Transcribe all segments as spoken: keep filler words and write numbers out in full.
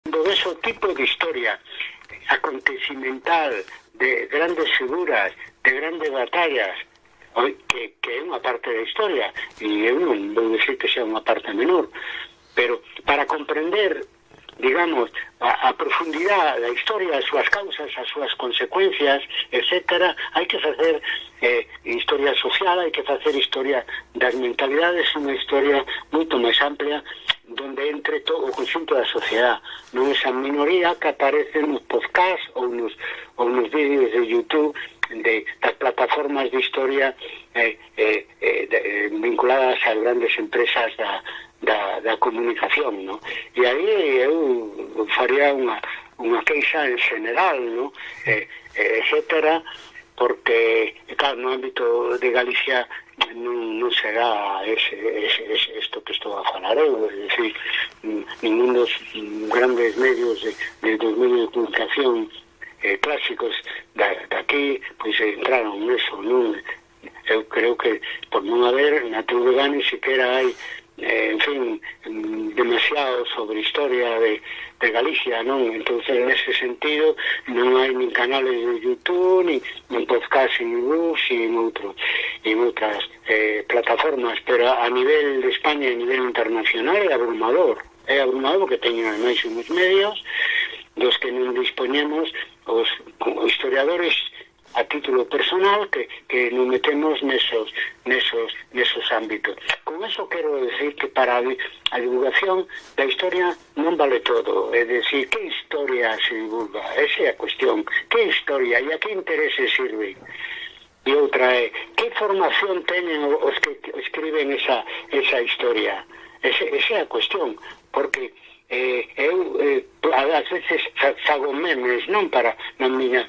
do ese tipo de historia acontecimental, de grandes figuras, de grandes batallas, que, que é unha parte da historia, e eu non vou dicir que sea unha parte menor, pero para comprender, digamos, a, a profundidade da historia, as súas causas, as súas consecuencias, etcétera, hai que facer eh, historia social, hai que facer historia das mentalidades, unha historia moito máis amplia, donde entre todo o conxunto da sociedade, non esa minoría que aparece nos podcasts ou nos, ou nos vídeos de YouTube de, das plataformas de historia eh, eh, eh, de, eh, vinculadas ás grandes empresas da Da, da comunicación, ¿no? E aí eu faría unha, unha queixa en general, ¿no? Eh, eh, etcétera, porque, claro, no ámbito de Galicia non, non será ese, ese, ese, esto que estou a falar eu, é dicir, ningún dos grandes medios de, de, dos medios de comunicación eh, clásicos da, daqui, pois entraron neso, non? Eu creo que por non haber na T V G ni siquiera hai Eh, en fin, demasiado sobre historia de, de Galicia, non? Entonces, nese sentido, non hai nin canales de YouTube, nin, nin podcast en Bus, e en outro, en outras eh, plataformas, pero a nivel de España e a nivel internacional é abrumador, é abrumador porque teñen ademais uns medios dos que non dispoñemos os, os historiadores a título personal que, que nos metemos nesos, nesos, nesos ámbitos. Con eso quero decir que para a divulgación da historia non vale todo. É dicir, que historia se divulga? Esa é a cuestión. Que historia e a que interese sirve? E outra é, que formación teñen os que escriben esa, esa historia? Esa, esa é a cuestión. Porque eh, eu eh, ás veces fago memes, non para na miña...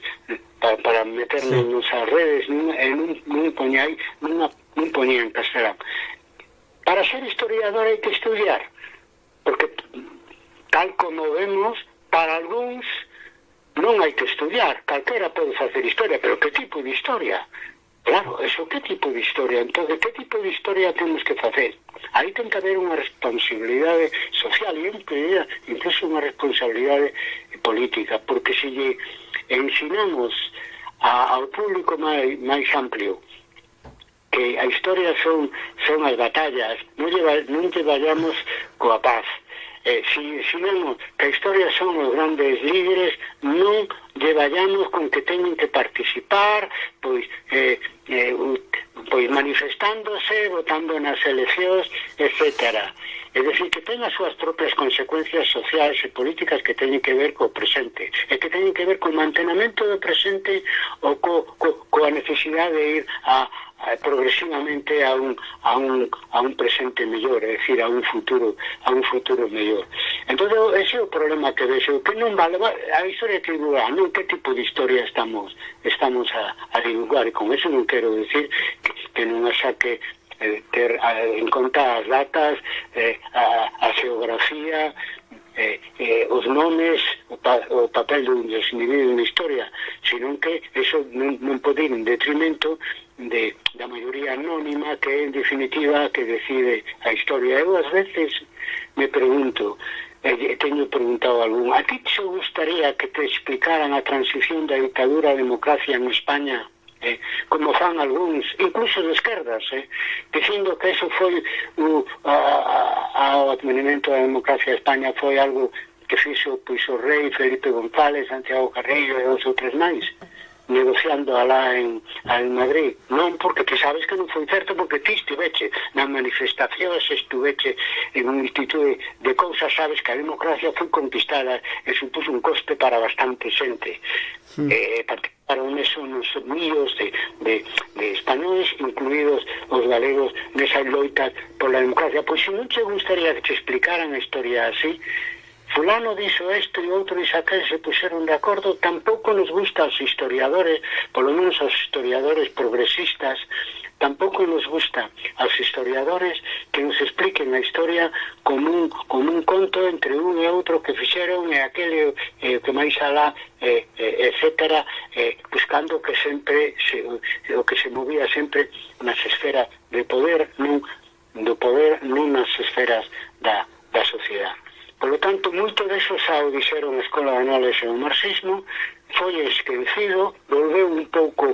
para, para meterme sí. Nos redes, non, non, non poñai, non, non poñía en castelán. Para ser historiador hai que estudiar, porque tal como vemos, para algúns non hai que estudiar, calquera pode facer historia, pero que tipo de historia? Claro, eso, que tipo de historia? Entón, que tipo de historia temos que facer? Aí ten que haber unha responsabilidade social e incluso unha responsabilidade política, porque se lle ensinamos a, ao público máis, máis amplio que a historia son, son as batallas, non lle, non lle vayamos coa paz. Eh, si ensinamos que a historia son os grandes líderes, non lle vayamos con que teñen que participar, pois, eh, eh, pois manifestándose, votando nas eleccións, etcétera. É dicir, que ten as súas propias consecuencias sociais e políticas que teñen que ver co presente, e que teñen que ver co mantenamento do presente ou co, co, coa necesidade de ir a, a progresivamente a un, a, un, a un presente mellor, é dicir, a un futuro a un futuro mellor. Entón, ese é o problema que vexo, que non vale a historia que divulgar, non que tipo de historia estamos estamos a, a divulgar, e con eso non quero decir que, que non saque Eh, ter a, en conta as datas, eh, a, a xeografía, eh, eh, os nomes, o, pa, o papel dos individuos na historia, senón que eso non, non pode ir en detrimento de, da maioría anónima que en definitiva que decide a historia. Eu ás veces me pregunto, eh, teño preguntado a algún, a ti te gustaría que te explicaran a transición da dictadura a democracia en España? Eh, como fan algúns, incluso de esquerdas, eh, dicindo que eso foi o advenimento da democracia de España foi algo que fixo pois, o rei Felipe González, Santiago Carrillo e os outros máis, negociando alá en, en Madrid. Non, porque ti sabes que non foi certo, porque ti estiveche na manifestación, se estuveche en un instituto de cousas, sabes que a democracia foi conquistada e supuso un coste para bastante xente. Sí. Eh, participaron eso nos míos de, de, de españoles, incluídos os galegos nesa loita pola democracia. Pois se non te gustaría que te explicaran a historia así, fulano dixo isto e outro dixo aquel, se puxeron de acordo. Tampouco nos gusta aos historiadores, polo menos aos historiadores progresistas, tampouco nos gusta aos historiadores que nos expliquen a historia como un, como un conto entre un e outro que fixeron e aquele eh, que máis alá, eh, eh, etcétera, eh, buscando que sempre se, o que se movía sempre nas esferas de poder, non, do poder non nas esferas da, da sociedade. Por lo tanto, moito deso xa o dixeron a Escola de Análise do Marxismo, foi esquecido, volveu un pouco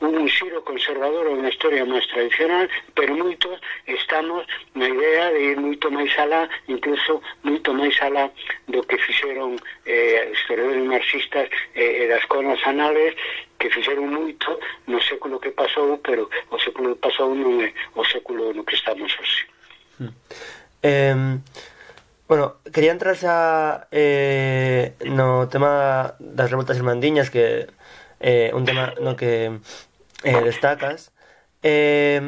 un xiro conservador unha historia máis tradicional, pero moito estamos na idea de ir moito máis alá, incluso moito máis alá do que fixeron eh, historiadores marxistas e eh, das escolas anales, que fixeron moito no século que pasou, pero o século que pasou non é o século no que estamos hoxe. Hmm. Eh... Bueno, quería entrar xa eh, no tema das revoltas irmandiñas, que é eh, un tema no que eh, destacas. Eh,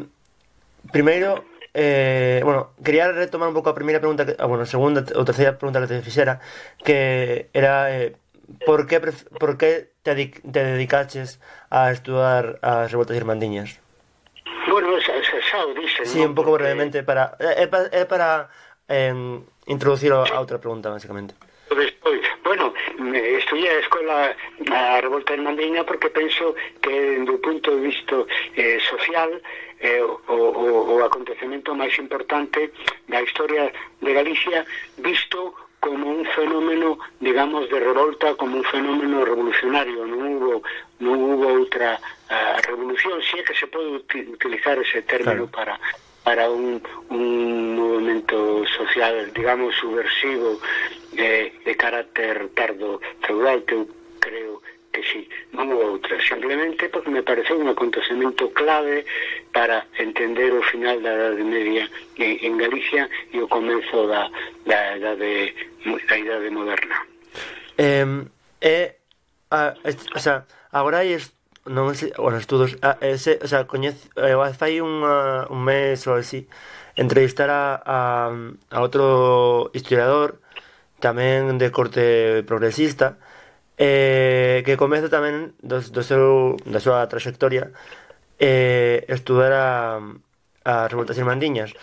primeiro, eh, bueno, quería retomar un pouco a primeira pregunta, que, ah, bueno, a segunda ou terceira pregunta que te fixera, que era eh, por que, por que te, te dedicaches a estudar as revoltas irmandiñas? Bueno, xa, xa, xa o dixen, sí, ¿no? Un pouco Porque... brevemente, para é para, é para eh, introducir a outra pregunta, basicamente. Despois, bueno, estudiei a escola a revolta irmandiña porque penso que do punto de vista eh, social eh, o, o, o acontecemento máis importante da historia de Galicia, visto como un fenómeno, digamos, de revolta, como un fenómeno revolucionario. Non hubo, non hubo outra uh, revolución, si é que se pode utilizar ese término, claro, para para un, un movimento social, digamos, subversivo de, de carácter tardo feudal, que eu creo que sí, non houve outra, simplemente porque me pareceu un acontecemento clave para entender o final da Idade Media en, en Galicia e o comezo da, da, idade, da idade moderna. Eh, eh, a, o sea, agora hai non sei, bueno, estudos, ah, ese, o sea, coñece, eh, fai unha, un mes ou así, entrevistar a, a, a outro historiador tamén de corte progresista, eh, que comeza tamén do, do seu, da súa trayectoria eh, estudar a, a revoltas irmandiñas.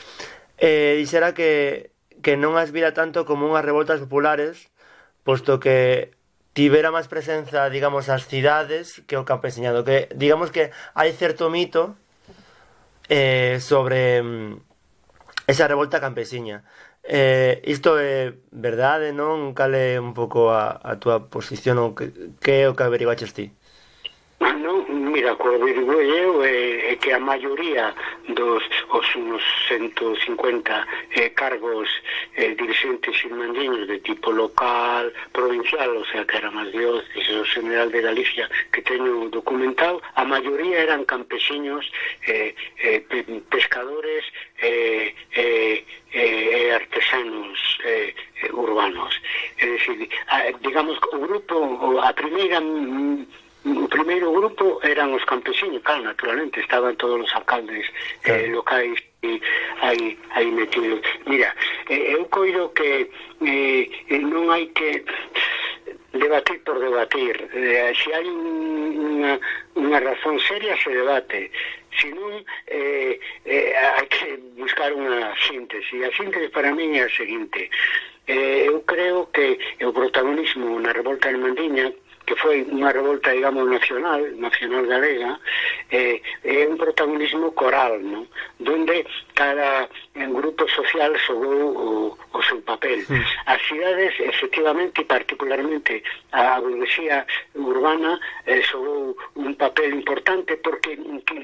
Eh, dixera que, que non as vira tanto como unhas revoltas populares, posto que tivera máis presenza, digamos, as cidades que o campesiñado, que digamos que hai certo mito eh, sobre mm, esa revolta campesiña. Eh, isto é verdade, non? Cal é un pouco a, a túa posición, ou que, que é o que averiguaches ti? Non, mira, o que averiguei eu é, é que a maioría dos os unos ciento cincuenta eh, cargos eh, dirigentes irmandiños de tipo local, provincial, o sea que eran as dióceses, o General de Galicia, que teño documentado, a maioría eran campesiños, eh, eh, pescadores e eh, eh, eh, artesanos eh, eh, urbanos. É dicir, a, digamos, o grupo, a primeira... O primeiro grupo eran os campesinos, claro, naturalmente, estaban todos os alcaldes eh, locais e aí, aí metidos. Mira, eh, eu coido que eh, non hai que debatir por debatir. Eh, se hai unha, unha razón seria, se debate. Se non, eh, eh, hai que buscar unha síntese. E a síntese para mí é a seguinte. Eh, eu creo que o protagonismo na revolta irmandiña, que foi unha revolta, digamos, nacional, nacional galega, eh, é un protagonismo coral, ¿no? Donde cada grupo social xogou o, o seu papel. Sí. As cidades, efectivamente, e particularmente a burguesía urbana, eh, xogou un papel importante porque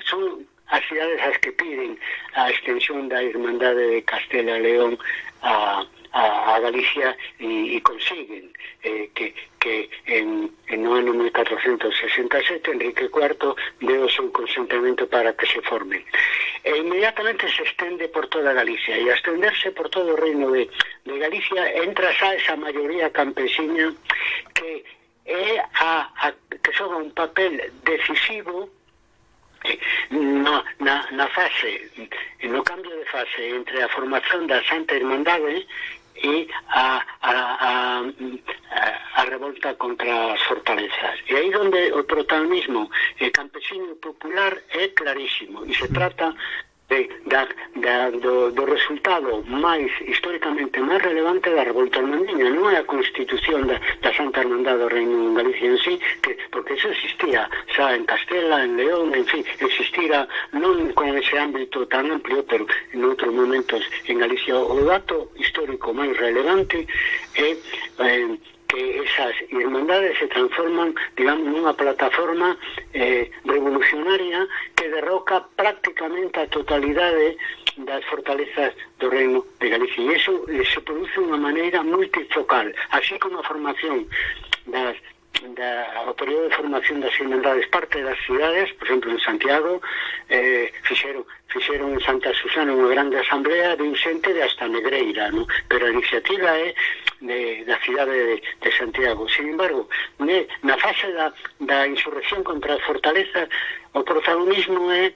son as cidades as que piden a extensión da Irmandade de Castela e León a a, a Galicia e, e consiguen eh, que, que en, en no ano mil catrocentos sesenta e sete Enrique cuarto deu o seu consentimento para que se formen. E inmediatamente se estende por toda Galicia, e a estenderse por todo o reino de, de Galicia entra xa esa maioría campesiña que é a, a que xoga un papel decisivo na, na, na fase, no cambio de fase entre a formación da Santa Irmandade e a, a, a, a revolta contra as fortalezas. E aí onde o protagonismo eh, campesino popular é clarísimo, e se trata de, da, da, do, do resultado máis históricamente máis relevante da revolta irmandiña. Non é a constitución da, da Santa Irmandade do Reino en Galicia en sí, que, porque porque eso existía xa en Castela, en León, en fin, existira non con ese ámbito tan amplio, pero en outros momentos en Galicia. O dato histórico máis relevante é eh, que esas irmandades se transforman, digamos, nunha plataforma eh, revolucionaria que derroca prácticamente a totalidade das fortalezas do Reino de Galicia. E iso eh, se produce de unha maneira multifocal, así como a formación das Da, o período de formación das irmandades parte das cidades, por exemplo en Santiago eh, fixeron, fixeron en Santa Susana unha grande asamblea de un xente de hasta Negreira, ¿no? Pero a iniciativa é de, da cidade de, de Santiago. Sin embargo, ne, na fase da, da insurrección contra as fortalezas, o protagonismo é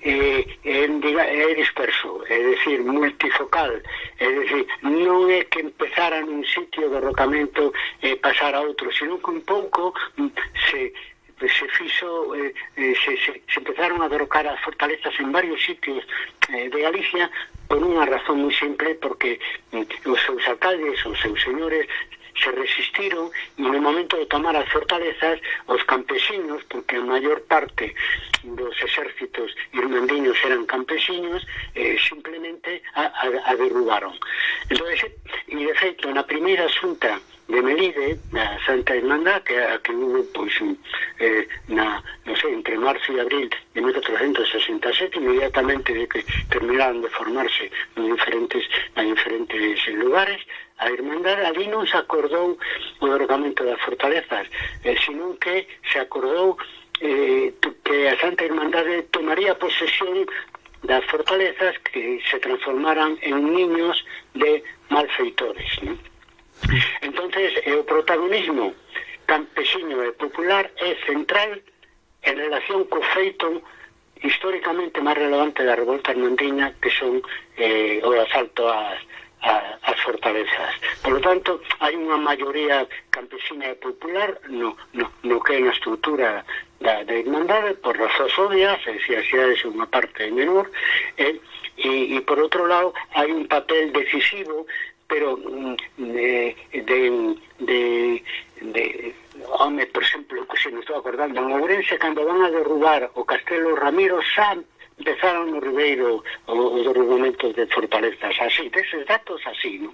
É, é, é disperso, é dicir, multifocal, é dicir, non é que empezara nun sitio de derrocamento e eh, pasar a outro, sino que un pouco se, se fixo, eh, se, se, se empezaron a derrocar as fortalezas en varios sitios eh, de Galicia por unha razón moi simple, porque eh, os seus alcaldes, os seus señores se resistiron, e no momento de tomar as fortalezas os campesinos, porque a maior parte dos exércitos irmandiños eran campesinos, eh, simplemente a, a, a derrubaron. Entonces, e de feito, na primeira xunta de Melide, na Santa Irmandad, que a que hubo, pois, eh, na, non sei, entre marzo e abril de mil catrocentos sesenta e sete, inmediatamente de que terminaron de formarse en diferentes, en diferentes lugares, a Irmandad ali non se acordou o derrocamento das fortalezas, eh, sino que se acordou eh, que a Santa Irmandade tomaría posesión das fortalezas que se transformaran en niños de malfeitores, ¿no? Entonces, eh, o protagonismo campesino e popular é central en relación co feito históricamente máis relevante da revolta irmandiña, que son eh, o asalto ás A, as fortalezas. Por lo tanto, hai unha maioría campesina e popular no, no, no que é na estrutura da, da Irmandade, por razóns obvias, é dicir, as cidades é unha parte menor, e, e, e por outro lado, hai un papel decisivo, pero de, de, de, de home, por exemplo, que se me estou acordando, en Ourense, cando van a derrubar o Castelo Ramiro, xa empezaron no Ribeiro os derrubamentos de fortalezas así, deses datos así, ¿no?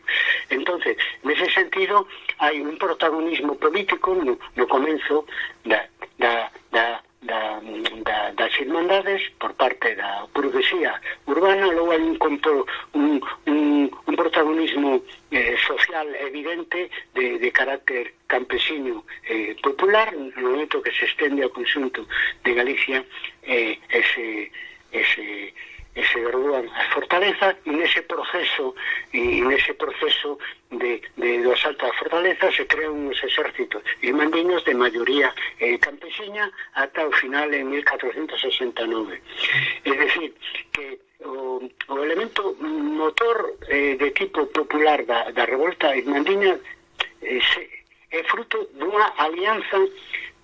Entonces, nese sentido, hai un protagonismo político no, no comenzo da, da, da, da, da, das irmandades por parte da burguesía urbana, logo hai un, un, un, un protagonismo eh, social evidente de, de carácter campesino eh, popular, no momento que se estende ao conxunto de Galicia eh, ese ese ese derruban as fortalezas, e nese proceso e nese proceso de, de do asalto ás fortalezas se crean uns exércitos irmandiños de maioría eh, campesina ata o final en mil catrocentos sesenta e nove. É dicir, que o, o elemento motor eh, de tipo popular da, da revolta irmandiña eh, se, é fruto dunha alianza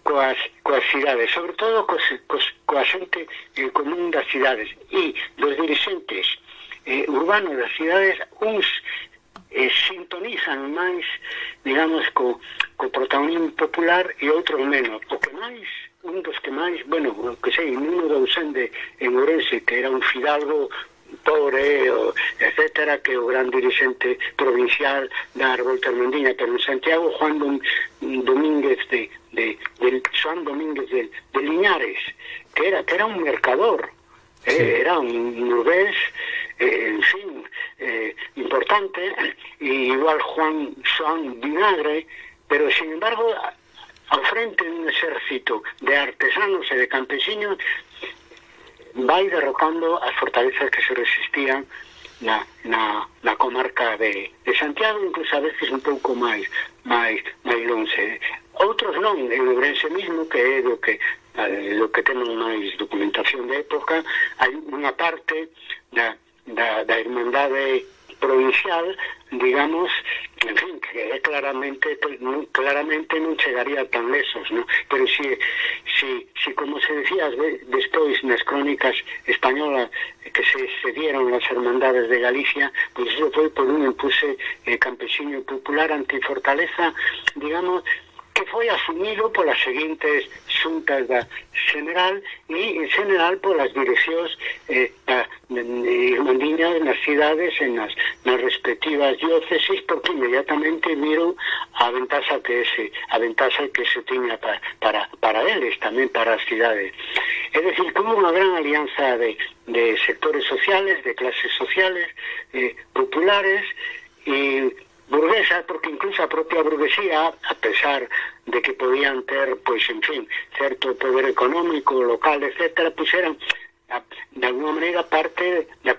coas, coas cidades, sobre todo coas, coas, coa xente eh, común das cidades e dos dirigentes eh, urbanos das cidades. Uns eh, sintonizan máis, digamos, co, co protagonismo popular e outros menos. O que máis, un dos que máis, bueno, que sei, Nuno de Ausende en Ourense, que era un fidalgo pobre, etcétera, que o gran dirigente provincial da revolta irmandiña, pero en Santiago, Juan Dom, Domínguez de, de, de Juan Domínguez de, de Liñares, que era, que era un mercador, sí. eh, era un nubés, eh, en fin, eh, importante, y igual Juan Juan Vinagre, pero sin embargo, ao frente de un exército de artesanos e de campesinos, vai derrocando as fortalezas que se resistían na, na, na comarca de, de Santiago, incluso a veces un pouco máis máis, máis longe. Outros non, en Ourense mismo, que é do que eh, do que temos máis documentación de época, hai unha parte da, da, da Irmandade provincial, digamos, en fin, que claramente claramente non chegaría tan lesos, ¿no? Pero si, si, si como se decía despois nas crónicas españolas que se, se dieron as hermandades de Galicia, pois pues eso foi por un impulse eh, campesino popular antifortaleza, digamos, que foi asumido polas seguintes xuntas da General e, en general, polas direccións eh, da, de, de irmandiñas nas cidades e nas, nas respectivas diócesis, porque inmediatamente viron a ventaxa que se, a ventaxa que se tiña para, para, para eles, tamén para as cidades. É dicir, que hubo unha gran alianza de, de sectores sociales, de clases sociales, eh, populares e burguesa, porque incluso a propia burguesía, a pesar de que podían ter, pois, en fin, certo poder económico, local, etcétera, pois eran, de alguna maneira, parte de,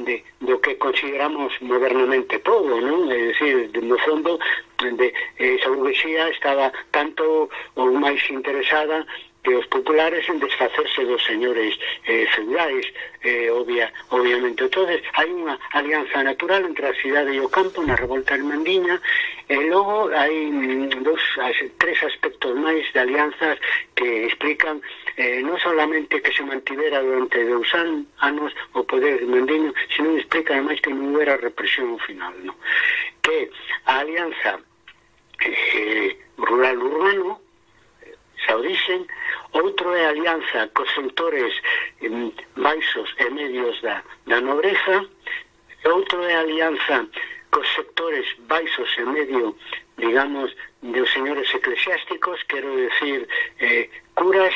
de, do que consideramos modernamente todo, non? É dicir, no fondo, de, esa burguesía estaba tanto ou máis interesada que os populares en desfacerse dos señores eh, feudais, eh, obvia, obviamente. Entonces, hai unha alianza natural entre a cidade e o campo na revolta irmandiña, e logo hai mm, dos, tres aspectos máis de alianzas que explican eh, non solamente que se mantivera durante dous an, anos o poder irmandiño, sino explica ademais que non hubiera represión final, no? Que a alianza eh, rural-urbano xa o dixen, outro é a alianza cos sectores eh, baixos e medios da, da nobreza, outro é a alianza cos sectores baixos e medio, digamos, dos señores eclesiásticos, quero decir, eh, curas,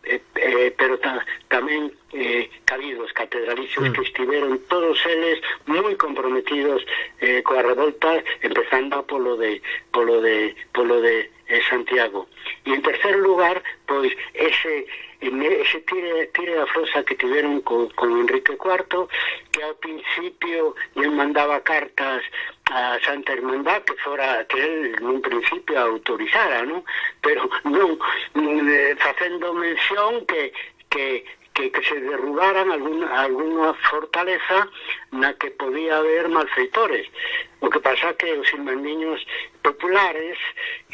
eh, eh, pero ta, tamén eh, cabidos catedralicios mm. que estiveron todos eles moi comprometidos eh, coa revolta, empezando polo de polo de polo de eh, Santiago. E en tercer lugar, pois ese ese tire, tire da frosa que tiveron con, con Enrique cuarto, que ao principio lle mandaba cartas a Santa Irmandad que fora que él nun principio autorizara, ¿no? Pero non eh, facendo mención que que que, que se derrubaran alguna, alguna fortaleza na que podía haber malfeitores. O que pasa que os irmandiños populares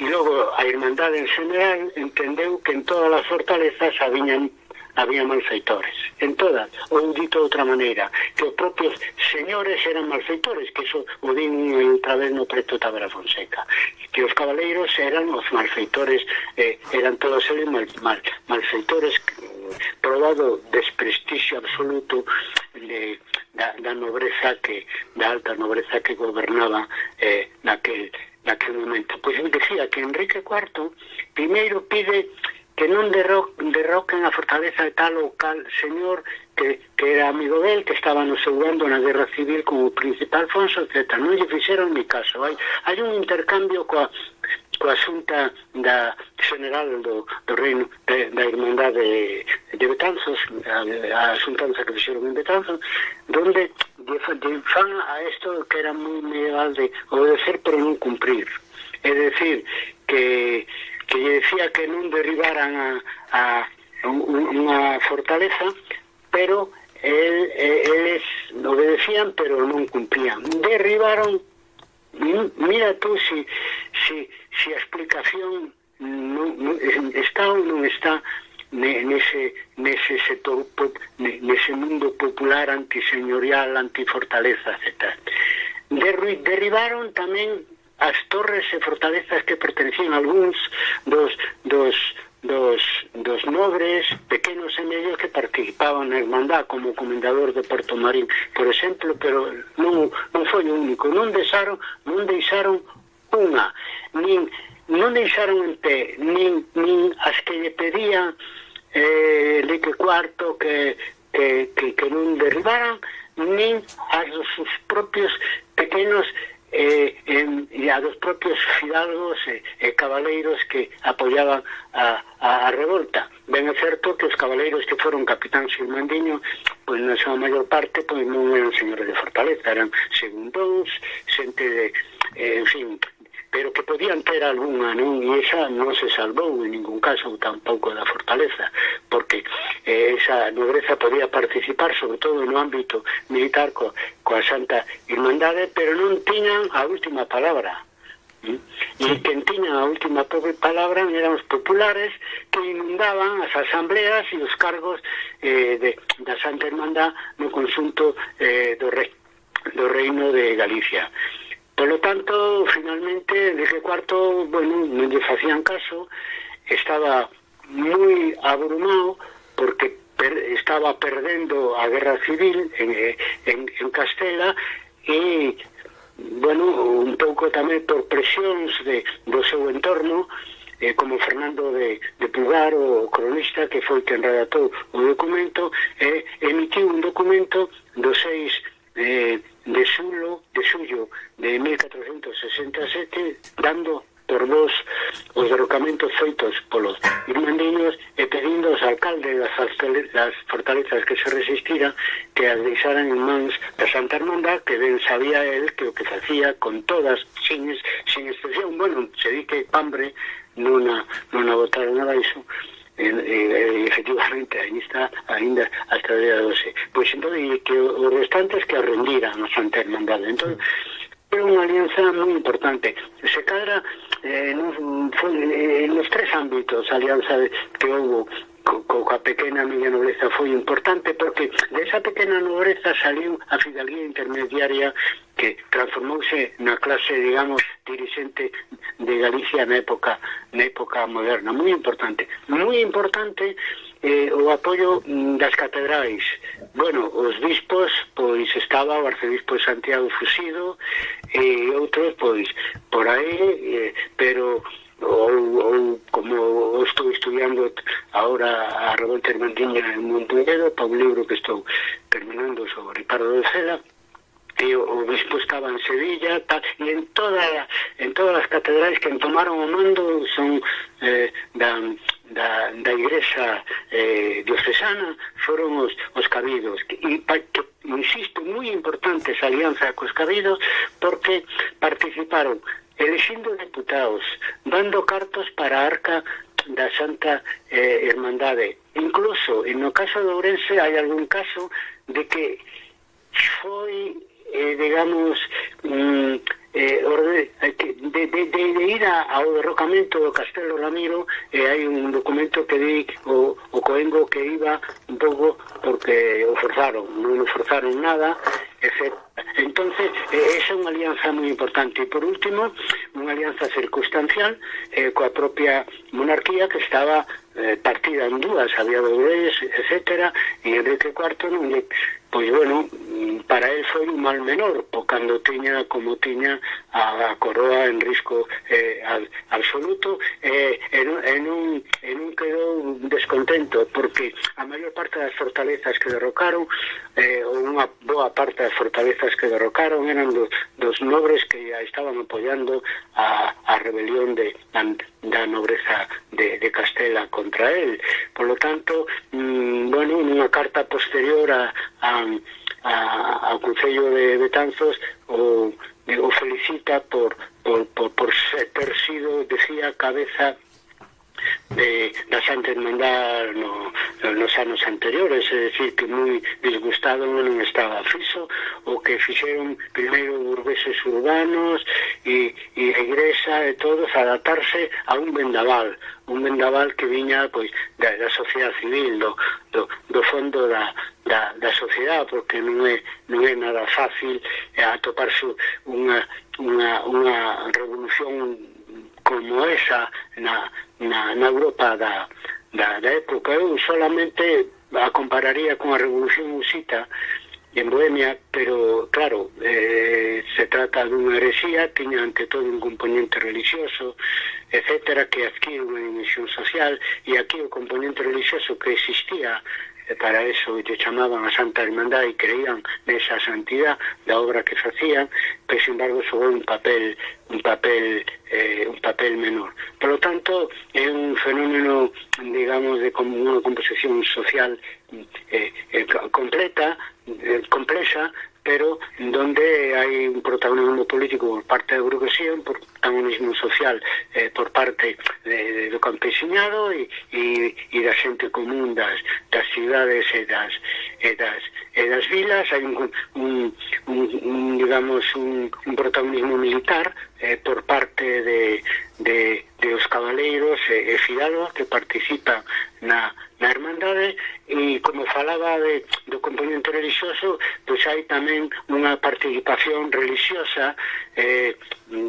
e logo a Irmandade en general entendeu que en todas as fortalezas habían había malfeitores, en todas, ou dito de outra maneira, que os propios señores eran malfeitores, que eso o din outra vez no Preto Tavera Fonseca, que os cabaleiros eran os malfeitores, eh, eran todos eles mal, mal, malfeitores, probado desprestixio absoluto de, da, da nobreza que, da alta nobreza que gobernaba eh, naquel, naquel momento. Pois eu decía que Enrique cuarto primeiro pide que non derro derroquen a fortaleza de tal ou cal señor que, que era amigo del, que estaba no seu bando na guerra civil como príncipe Alfonso, etcétera. Non lle fixeron ni caso. Hai, hai un intercambio coa, coa xunta da general do, do reino de, da Irmandade de, de Betanzos, a, a xuntanza que fixeron en Betanzos, donde de, de fan a isto que era moi medieval de obedecer pero non cumprir. É decir, que que lle decía que non derribaran a, a, a unha fortaleza, pero el, eles obedecían pero non cumplían. Derribaron, mira tú si, si, si a explicación non, non, está ou non está nese, nese sector, nese mundo popular antiseñorial, antifortaleza, etcétera. Derribaron tamén as torres e fortalezas que pertenecían a algúns dos, dos, dos, dos nobres pequenos e medios que participaban na Irmandad, como o comendador de Porto Marín, por exemplo, pero non, non foi o único. Non deixaron, non deixaron unha, nin, non deixaron en pé, nin, nin as que lle pedían eh, Enrique cuarto que, que, que, que non derribaran, nin as dos sus propios pequenos Eh, en, e a dos propios fidalgos e eh, eh, cabaleiros que apoyaban a, a, a revolta. Ben é certo que os cabaleiros que foron capitáns irmandiño, pois na súa maior parte pois non eran señores de fortaleza, eran segundóns, xente de, eh, en fin, pero que podían ter algunha, non? E esa non se salvou en ningún caso tampouco da fortaleza, porque eh, esa nobreza podía participar sobre todo no ámbito militar co, coa Santa Irmandade, pero non tiñan a última palabra. ¿Mm? E quen tiña a última palabra eran os populares que inundaban as asambleas e os cargos eh, de, da Santa Irmandad no conxunto eh, do, rei, do reino de Galicia. Polo tanto, finalmente, Enrique cuarto, bueno, non lle facían caso, estaba moi abrumado porque per, estaba perdendo a guerra civil en, en, en Castela e, bueno, un pouco tamén por presións de, do seu entorno, eh, como Fernando de, de Pugar, o cronista que foi quen redactou o documento, eh, emitiu un documento do seis eh, de xulo de xullo de mil catrocentos sesenta e sete, dando por vos os derrocamentos feitos polos irmandiños e pedindo aos alcaldes das fortalezas que se resistiran que as deixaran en mans da Santa Hermandad, que ben sabía el que o que facía con todas, sin, sin excepción, bueno, se di que Pambre non a, non a botaron abaixo, e, e, e efectivamente aí está ainda hasta o día doce. Pois entón, e que os restantes que a rendiran a Santa Hermandad. Entón, é unha alianza moi importante. Se cadra eh, nos, eh, nos tres ámbitos a alianza que houve co, coa pequena miña nobreza foi importante, porque desa pequena nobreza saliu a fidalguía intermediaria que transformouse na clase, digamos, dirixente de Galicia na época na época moderna. Moi importante. Moi importante eh, o apoio das catedrais. Bueno, os bispos, pois estaba o arcebispo de Santiago Fusido e outros, pois, por aí, eh, pero ou, ou como estou estudiando agora a revolta irmandiña en Montevideo, para un libro que estou terminando sobre Ricardo de Cela, e o, o bispo estaba en Sevilla, tal, e en toda en todas as catedrais que tomaron o mando son eh, da, da, da igrexa eh, diocesana, foron os, os cabidos, e pa, que, insisto, moi importante esa alianza cos cabidos, porque participaron elixindo deputados, dando cartos para a arca da Santa eh, Hermandade. Incluso, no caso de Ourense, hai algún caso de que foi Eh, digamos mm, eh, orde, de, de, de, de ir a, ao derrocamento do Castelo Ramiro, eh, hai un documento que di o, o Coengo que iba un pouco porque o forzaron, non o forzaron nada, etcétera. Entonces, eh, esa é unha alianza moi importante. E por último, unha alianza circunstancial eh, coa propia monarquía que estaba eh, partida en dúas, había doblez, etcétera, e Enrique cuarto non lle, pois bueno, para él foi un mal menor, porque cando tiña como tiña a, a coroa en risco eh, al, absoluto, eh, en, en, un, en un quedou descontento, porque a maior parte das fortalezas que derrocaron, eh, ou unha boa parte das fortalezas que derrocaron eran dos, dos nobres que ya estaban apoyando a, a rebelión de, da, da nobreza de, de Castela contra él. Por lo tanto, mmm, bueno, nunha carta posterior a, a, a, ao Concello de Betanzos o, o felicita por, por, por, por ser, ter sido, decía, cabeza de da Santa Hermandad no, nos anos anteriores, é dicir, que moi disgustado non estaba Fiso, o que fixeron primeiro burgueses urbanos e, e a igrexa e todos adaptarse a un vendaval, un vendaval que viña pois da, da sociedade civil, do, do, do fondo da, da, da sociedade, porque non é, non é nada fácil eh, atoparse unha, unha, unha revolución como esa na, na, na Europa da, da, da época. Eu solamente a compararía con a Revolución Husita en Bohemia, pero claro, eh, se trata dunha herexía, tiña ante todo un componente religioso, etcétera, que adquire unha dimensión social, e aquí o componente religioso que existía, para eso lle chamaban a Santa Hermandad e creían nesa santidad da obra que facían, pero sin embargo xogou un papel un papel eh, un papel menor. Por lo tanto, é un fenómeno, digamos, de como unha composición social eh, eh, completa, eh, complexa, pero donde hai un protagonismo político por parte da burguesía, un protagonismo social eh, por parte de, de, do campesiñado e, e, e da xente común das, das cidades e das, e das, e das vilas. Hai un, un, un, un digamos, un, un protagonismo militar eh, por parte de, de, de os cabaleiros e, e fidalgos que participan na, na Hermandade, e como falaba de, do componente religioso, pois hai tamén unha participación religiosa eh,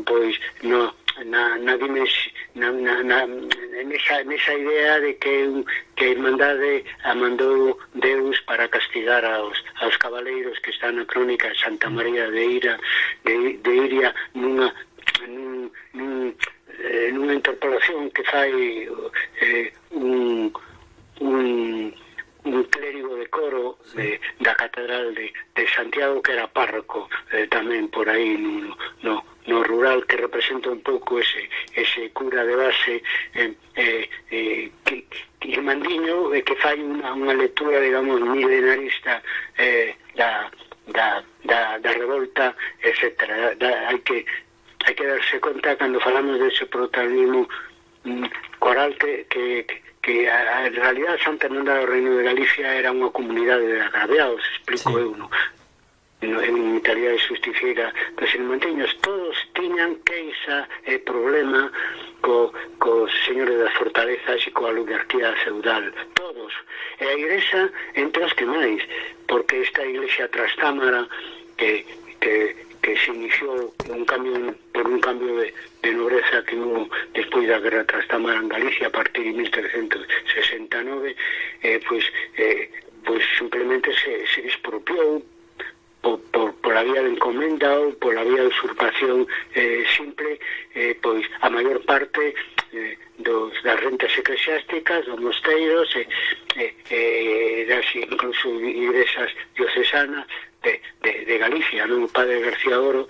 pois no na, na, na, na, na nesa, nesa idea de que, que a Irmandade a mandou Deus para castigar aos, aos cabaleiros que están na crónica de Santa María de Ira de, de Iria nunha, nun, nun, eh, nunha interpolación que fai eh, un, un un clérigo de coro de, da Catedral de, de Santiago, que era párroco eh, tamén por aí no, no, no rural, que representa un pouco ese, ese cura de base eh, eh, eh, que, que Mandiño, eh, que fai unha, unha lectura, digamos, milenarista eh, da, da, da, da revolta, etcétera. Da, hai que hai que darse conta cando falamos dese protagonismo mm, coral que, que, que que a, a realidad Santa Hermandade do Reino de Galicia era unha comunidade de agraviados, explico sí. eu, no, no, en calidad de justiciera dos irmantiños, todos tiñan queixa e problema co, cos señores das fortalezas e coa oligarquía feudal, todos, e a Igrexa entre as que máis, porque esta Iglesia Trastámara que, que que se iniciou un cambio, por un cambio de, de nobreza que hubo despois da Guerra Trastámara en Galicia a partir de mil trescentos sesenta e nove, eh, pois, eh, pois simplemente se, se expropiou por, por, por la vía de encomenda ou por la vía de usurpación eh, simple, eh, pois a maior parte eh, dos, das rentas eclesiásticas, dos mosteiros, eh, eh, eh, das incluso igrexas diocesanas de, de, de Galicia, non? O padre García Oro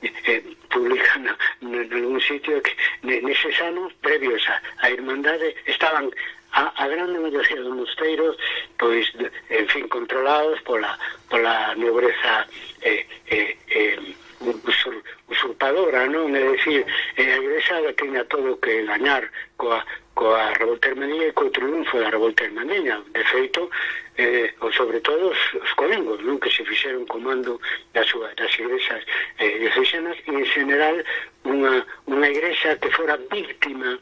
eh, publica en algún sitio que neses anos previos a, a Irmandade estaban a, a grande maioría dos mosteiros, pois, en fin, controlados pola, pola nobreza eh, eh, eh, usur, usurpadora, non? É dicir, eh, a Igrexa tiña todo que gañar coa, coa revolta hermandiña e co triunfo da revolta hermandiña. De feito, eh, ou sobre todo os, os colengos, non? Que se fixeron comando das, das igrexas eh, diocesanas, e en general unha, unha igrexa que fora víctima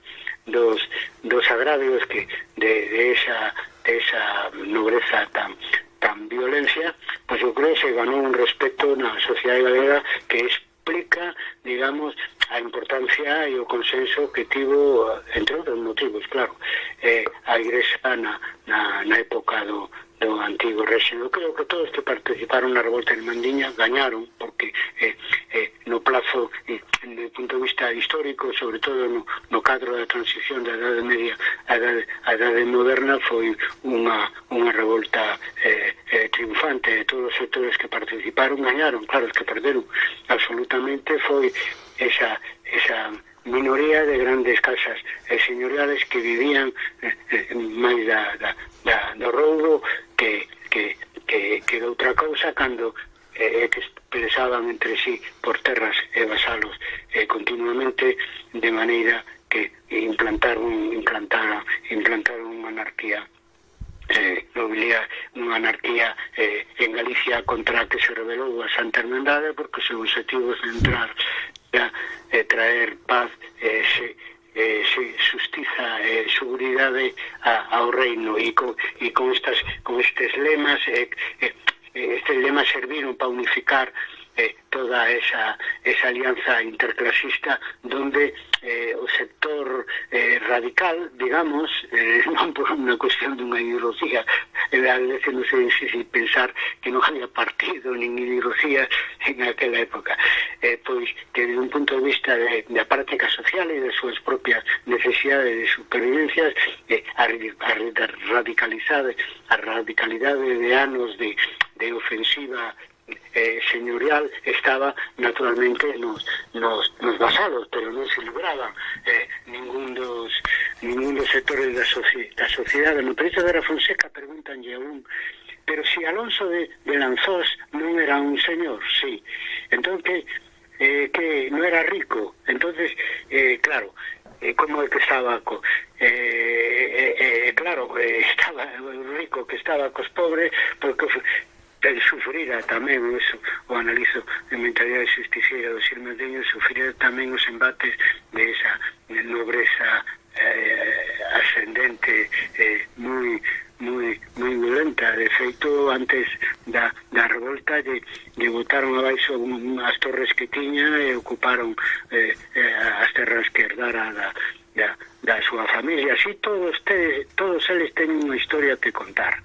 dos, dos agravios que de, de, esa, de esa nobreza tan tan violencia, pois eu creo que se ganou un respeto na sociedade galega que explica, digamos, a importancia e o consenso que tivo, entre outros motivos, claro, eh, a Igrexa na, na, na época do, do antigo réxime. Eu creo que todos que participaron na revolta irmandiña gañaron, porque eh, eh, no plazo, eh, do punto de vista histórico, sobre todo no, no cadro da transición da Edade Media a Edade, a Edade Moderna, foi unha, unha revolta eh, eh, triunfante. De todos os sectores que participaron gañaron. Claro, os que perderon absolutamente foi esa, esa minoría de grandes casas eh, señoriales que vivían eh, eh, máis da, da, da, do roubo que, que, que, que de outra cousa, cando eh, que pensaban entre sí por terras e vasalos eh, continuamente, de maneira que implantaron implantaron, implantaron unha anarquía eh, nobiliar, unha anarquía eh, en Galicia contra a que se rebelou a Santa Hermandade, porque o seu objetivo é entrar a eh, traer paz, eh, se, eh, se justiza e eh, seguridade a, ao reino, e con, e con, estas, con estes lemas eh, eh, estes lemas serviron para unificar eh, toda esa, esa alianza interclasista, donde eh, o sector eh, radical, digamos, eh, non por unha cuestión dunha ideología, eh, a veces non sei difícil pensar que non había partido nin ideología en aquela época, eh, pois que desde un punto de vista de, de a práctica social e de súas propias necesidades de supervivencias, eh, a, a radicalizade a radicalidade de anos de, de ofensiva Eh, señorial estaba naturalmente nos, nos, nos vasalos, pero non se libraban eh, ningún dos ningún dos sectores da, soci, da sociedade. No precio de la Fonseca preguntanlle a un, pero si Alonso de, de Lanzós non era un señor, sí, entón que, eh, que non era rico, entonces eh, claro, eh, como é que estaba co, eh, eh, eh, claro, eh, estaba rico que estaba cos pobres, porque sufrira tamén eso, o analizo de mentalidade justiciera dos irmandiños, sufrira tamén os embates de esa nobreza eh, ascendente eh, moi moi moi violenta. De feito, antes da, da revolta lle, lle botaron abaixo as torres que tiña e ocuparon eh, eh, as terras que herdara da, da, da súa familia. Así todos tedes, todos eles teñen unha historia que contar,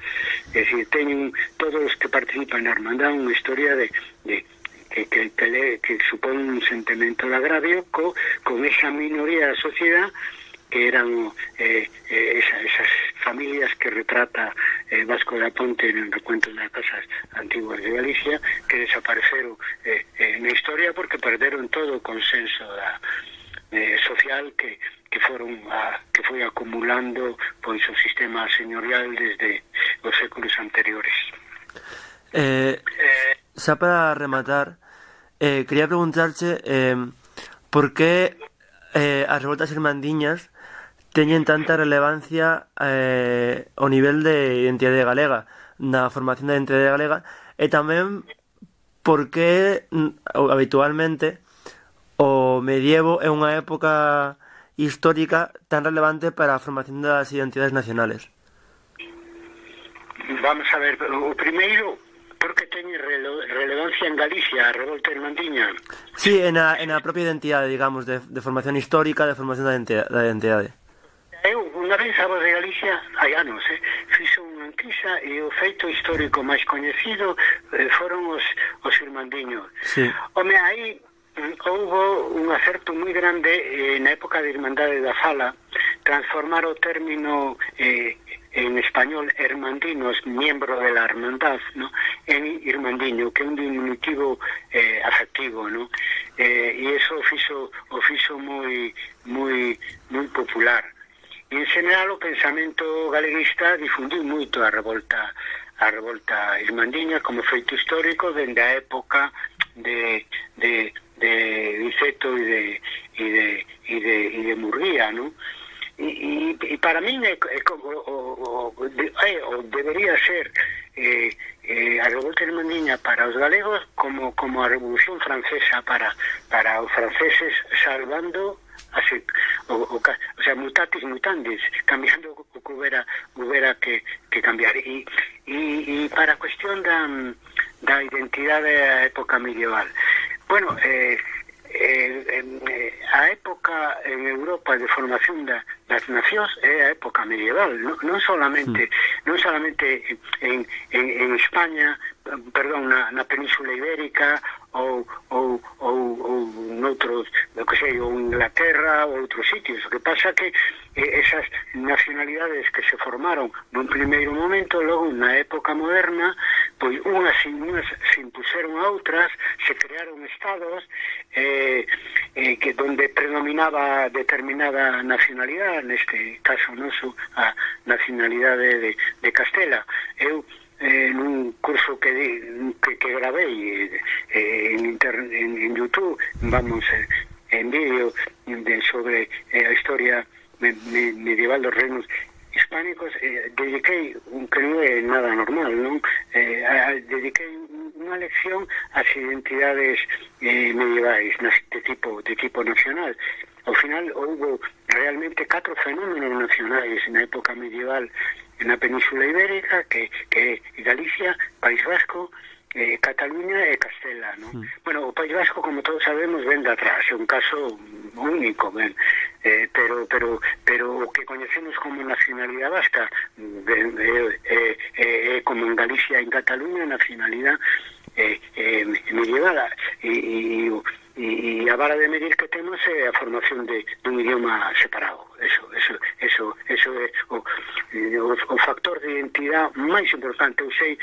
é dicir, teñen todos os que participan na hermandad unha historia de, de que, que, que, le, que supón un sentimento de agravio co, con esa minoría da sociedade que eran eh, eh, esa, esas familias que retrata eh, Vasco da Ponte en el recuento de las casas antiguas de Galicia, que desapareceron eh, eh, na historia porque perderon todo o consenso da, eh, social que, que foron a, que foi acumulando pois o sistema señorial desde os séculos anteriores. Eh, eh, xa para rematar, eh, quería preguntarche eh, por que eh, as revoltas irmandiñas teñen tanta relevancia eh, ao nivel de identidade galega, na formación da identidade galega, e tamén porque habitualmente o medievo é unha época histórica tan relevante para a formación das identidades nacionales. Vamos a ver, o primeiro, porque teñe rele relevancia en Galicia a revolta irmandiña? Sí, en a, en a propia identidade, digamos, de, de formación histórica, de formación da identidade, da identidade. Eu, unha vez, a Voz de Galicia, hai anos, eh, fixo unha enquisa e o feito histórico máis coñecido eh, foron os, os irmandiños. Sí. Home, aí houbo un acerto moi grande eh, na época de Irmandade da Fala, transformar o término eh, en español hermandinos, miembro de la hermandad, ¿no?, en irmandiño, que é un diminutivo eh, afectivo, ¿no? Eh, e iso o fixo, o fixo moi, moi, moi popular. E en general o pensamento galeguista difundiu moito a revolta a revolta irmandiña como feito histórico dende a época de de de Viceto e de e de e de e de Murguía, ¿no? E, e, e para min é, é, o, o, o, de, é, o debería ser eh, eh, a revolta irmandiña para os galegos como como a Revolución Francesa para para os franceses, salvando así, o, o, o sea, mutatis mutandis, cambiando o que hubiera, hubiera que, que cambiar. E, e, e para a cuestión da, da identidade da época medieval, bueno, eh, eh, eh, a época en Europa de formación da, das nacións é a época medieval, non, non solamente non solamente en, en, en España, perdón, na, na Península Ibérica ou, ou, ou, ou noutros, o que sei, ou Inglaterra ou outros sitios. O que pasa que eh, esas nacionalidades que se formaron nun primeiro momento, logo na época moderna, pois unhas, unhas se impuseron a outras, se crearon estados eh, eh, que donde predominaba determinada nacionalidade, neste caso noso a nacionalidade de, de Castela. Eu eh, nun curso que, que, que gravei eh, en, internet, en, en YouTube, vamos, eh, en vídeo de, sobre eh, a historia me, me, medieval dos reinos hispánicos, eh, dediquei, que non é nada normal, non? Eh, a, dediquei unha lección ás identidades eh, medievais de tipo, de tipo nacional. Ao final houve realmente catro fenómenos nacionais na época medieval na Península Ibérica, que, que Galicia, País Vasco, eh, Cataluña e Castela, ¿no? Mm. Bueno, o País Vasco, como todos sabemos, ven de atrás, é un caso único, ben, eh, pero, pero, pero o que coñecemos como nacionalidade vasca, eh, eh, eh, como en Galicia e en Cataluña, nacionalidade eh, eh, medieval, e, e, e a vara de medir que temos é a formación de un idioma separado. Eso, eso, eso, eso é o, o, o factor de identidade máis importante. Eu sei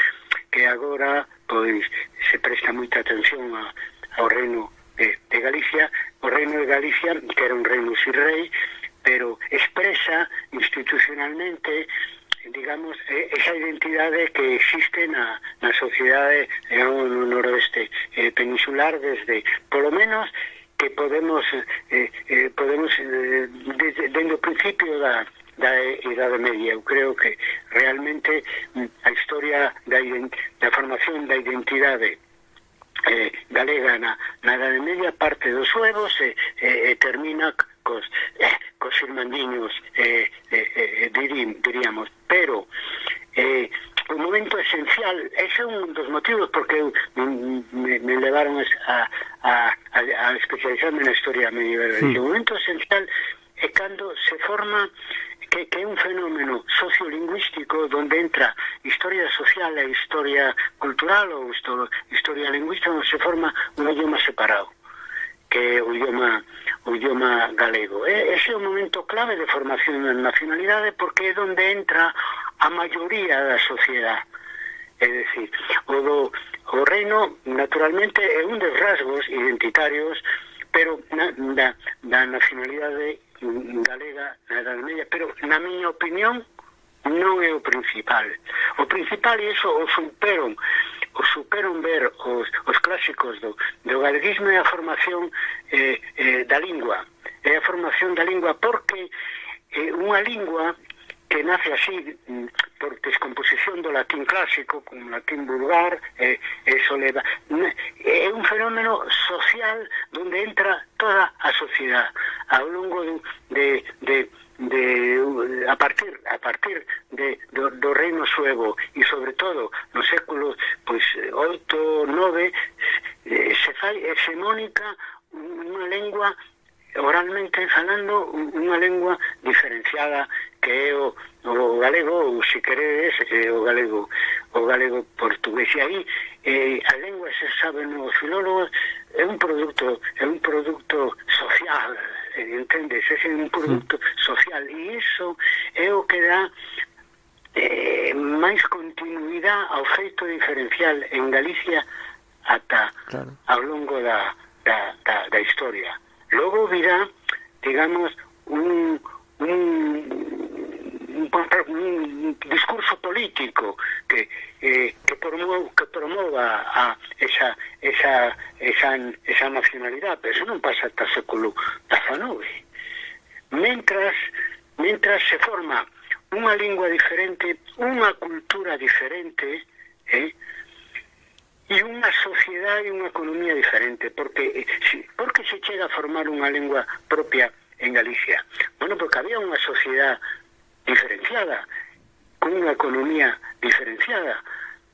que agora pois se presta moita atención a, ao reino de, de Galicia, o reino de Galicia, que era un reino sin rei, pero expresa institucionalmente, digamos, esa identidade que existe na, na sociedade no noroeste eh, peninsular desde, polo menos, que podemos eh, eh, podemos eh, desde, desde o principio da, da Idade Media. Eu creo que realmente a historia da, da formación da identidade eh, galega na, na Idade Media parte dos suevos e, e, e termina cos, eh, cos irmandiños, eh, eh, eh, dirí, diríamos, pero eh, o momento esencial, ese é un dos motivos porque eu, me, me levaron a, a, a, a especializarme na historia medieval. Sí. O momento esencial é cando se forma que, que é un fenómeno sociolingüístico donde entra historia social e historia cultural ou historia lingüística, onde se forma un idioma separado, que é o idioma, o idioma galego. E ese é o momento clave de formación da nacionalidade porque é onde entra a maioría da sociedade. É dicir, o, do, o reino naturalmente é un dos rasgos identitarios, pero na, da, da nacionalidade galega na Edade Media, pero na miña opinión non é o principal. O principal, e iso o superon, o superon ver os, os clásicos do, do galeguismo é a formación eh, eh, da lingua. É a formación da lingua porque eh, unha lingua que nace así por descomposición do latín clásico con latín vulgar, eh, eso leva, é un fenómeno social onde entra toda a sociedade ao longo de, de, de a partir a partir de, do, do reino suevo e sobre todo no século pois oito, nove eh, se fai hegemónica unha lengua oralmente falando, unha lengua diferenciada que é o, o galego, ou se queredes, é o galego o galego portugués. E aí eh, a lengua, se saben os filólogos, é un produto é un produto social, entendes? É un produto social, e iso é o que dá eh, máis continuidade ao feito diferencial en Galicia ata claro. Ao longo da, da, da, da historia. Logo virá, digamos, un, un, un, un discurso político que, eh, que, promova, que promova a esa, esa, esa, esa nacionalidade, pero eso non pasa hasta o século diecinueve. Mentras, mentras se forma unha lingua diferente, unha cultura diferente, eh, e unha sociedade e unha economía diferente, porque porque se chega a formar unha lingua propia en Galicia? Bueno, porque había unha sociedade diferenciada, con unha economía diferenciada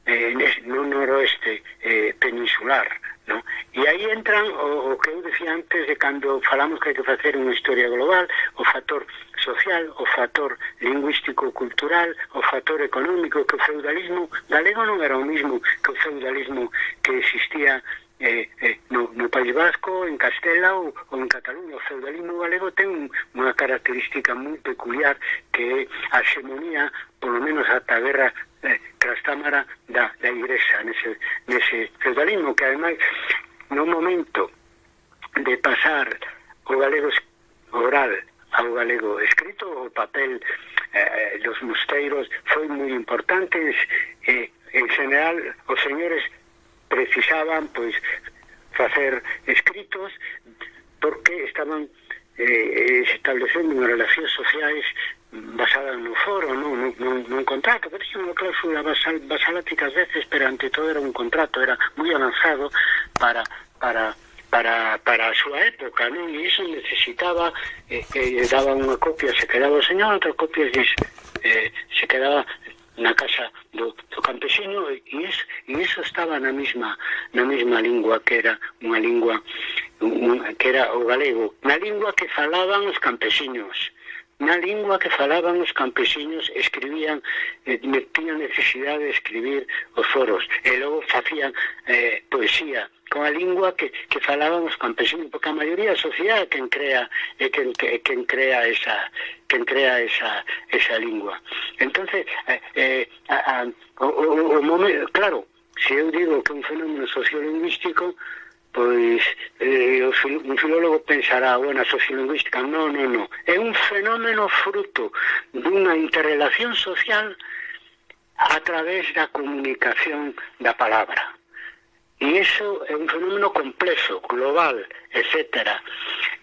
eh, no noroeste eh, peninsular, ¿no? E aí entran o, o que eu decía antes de cando falamos que hai que facer unha historia global, o factor social, o factor lingüístico-cultural, o factor económico, que o feudalismo galego non era o mismo que o feudalismo que existía eh, eh, no, no País Vasco, en Castela ou, ou en Cataluña. O feudalismo galego ten unha característica moi peculiar que é a xemonía, polo menos ata a guerra eh, Trastámara da, da Igrexa nese, nese feudalismo, que ademais no momento de pasar o galego oral ao galego escrito, o papel eh, dos mosteiros foi moi importante. eh, en general os señores precisaban pois facer escritos porque estaban eh, establecendo unhas relacións sociais basadas no foro, non no, no, no contrato, que tinha unha cláusula basal, basalática ás veces, pero ante todo era un contrato, era moi avanzado para para para para a súa época, non? E iso necesitaba eh, que daba unha copia, se quedaba o señor, outra copia eh, se quedaba na casa do, do campesino, e iso, e iso estaba na mesma na mesma lingua, que era unha lingua un, que era o galego, na lingua que falaban os campesiños, na lingua que falaban os campesiños, escribían, eh, tiñan necesidade de escribir os foros, e logo facían eh, poesía con a lingua que, que falaban os campesinos, porque a maioría da sociedade é quen crea é quen, que, quen crea esa quen crea esa esa lingua. Entonces eh, eh, a, a, o, o, o momento, claro, se eu digo que é un fenómeno sociolingüístico, pois eh, un filólogo pensará, bueno, a sociolingüística, non, non, non, é un fenómeno fruto dunha interrelación social a través da comunicación da palabra. e iso é un fenómeno complexo, global, etcétera.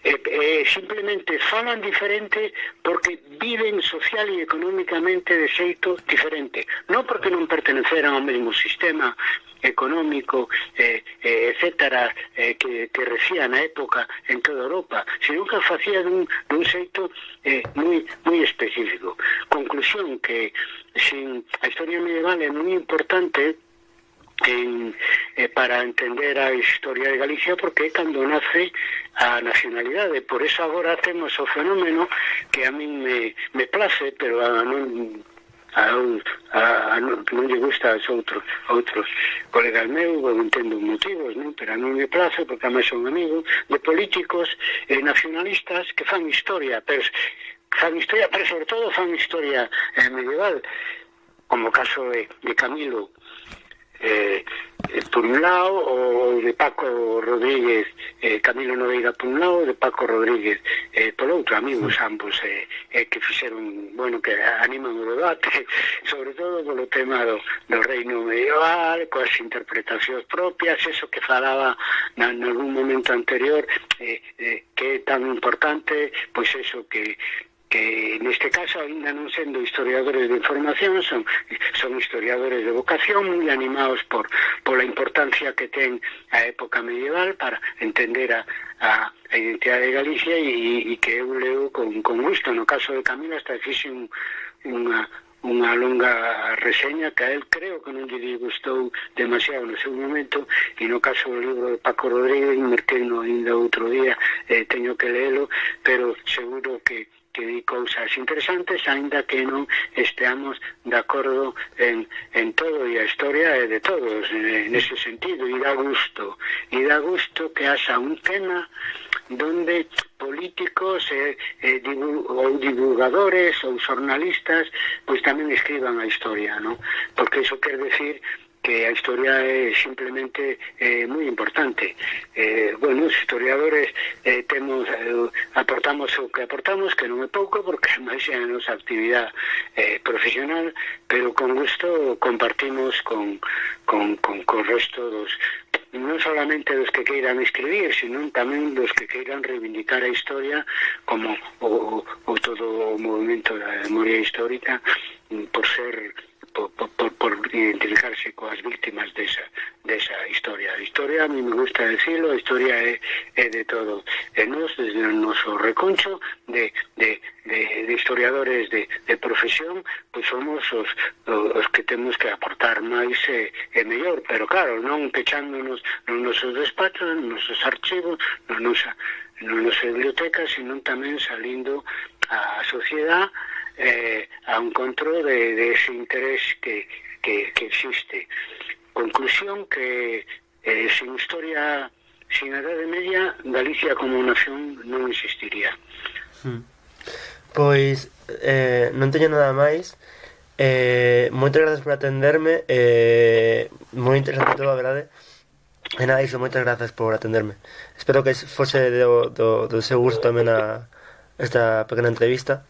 E, e simplemente falan diferente porque viven social e económicamente de xeito diferente, non porque non perteneceran ao mesmo sistema económico, eh, eh, etcétera, eh, que, que recía na época en toda Europa, sino que facía dun, dun xeito eh, moi, moi específico. Conclusión que sin, a historia medieval é moi importante En, eh, para entender a historia de Galicia, porque é cando nace a nacionalidade. Por eso agora temos o fenómeno que a min me, me place, pero a non a, a, a non, non lle gusta aos outros outros colegas meus, eu entendo motivos, non? Pero a min me place, porque a mí son amigos de políticos eh, nacionalistas que fan historia, pero fan historia, pero sobre todo fan historia eh, medieval, como o caso de, de Camilo Eh, eh, por un lado, o de Paco Rodríguez, eh, Camilo Nogueira por un lado, de Paco Rodríguez eh, por outro, amigos ambos eh, eh, que fixeron, bueno, que animan o debate sobre todo polo tema do, do reino medieval, coas interpretacións propias, eso que falaba na, en algún momento anterior, eh, eh, que é tan importante, pois eso que que neste caso, ainda non sendo historiadores de información, son, son historiadores de vocación, moi animados por pola importancia que ten a época medieval para entender a, a, a identidade de Galicia, e, e que eu leo con, con gusto. No caso de Camilo hasta fixe un, unha unha longa reseña que a él creo que non lle disgustou demasiado no seu momento, e no caso do libro de Paco Rodríguez invertendo ainda outro día, eh, teño que leelo, pero seguro que que di cousas interesantes, aínda que non esteamos de acordo en, en todo, e a historia é de todos en ese sentido, e dá gusto e dá gusto que haxa un tema donde políticos eh, eh, divul ou divulgadores ou xornalistas pois tamén escriban a historia, ¿no? Porque iso quer decir que a historia é simplemente eh, moi importante. Eh, bueno, os historiadores eh, temos, eh, aportamos o que aportamos, que non é pouco, porque máis é a nosa actividade eh, profesional, pero con gusto compartimos con, con, con, con o resto dos, non solamente dos que queiran escribir, sino tamén dos que queiran reivindicar a historia como o, o todo o movimento da memoria histórica, por ser Por, por, por identificarse coas víctimas desa, desa historia. A historia, a mí me gusta decirlo, a historia é, é de todo. E nos, desde o noso reconcho de, de, de, de historiadores de, de profesión, pois somos os, os que temos que aportar máis e, e mellor, pero claro, non pechándonos nos nosos despachos, nos nosos archivos, nos nosa, nos nosa biblioteca, sino tamén salindo á sociedade, Eh, a un control de, de ese interés que, que, que existe. Conclusión que eh, sin historia, sin a Edade Media, Galicia como nación non existiría. Hmm. Pois eh, non teño nada máis. Eh, moitas grazas por atenderme, eh, moi interesante todo, a verdade. E nada, iso, moitas grazas por atenderme. Espero que fose do, do, do seu gusto tamén a esta pequena entrevista.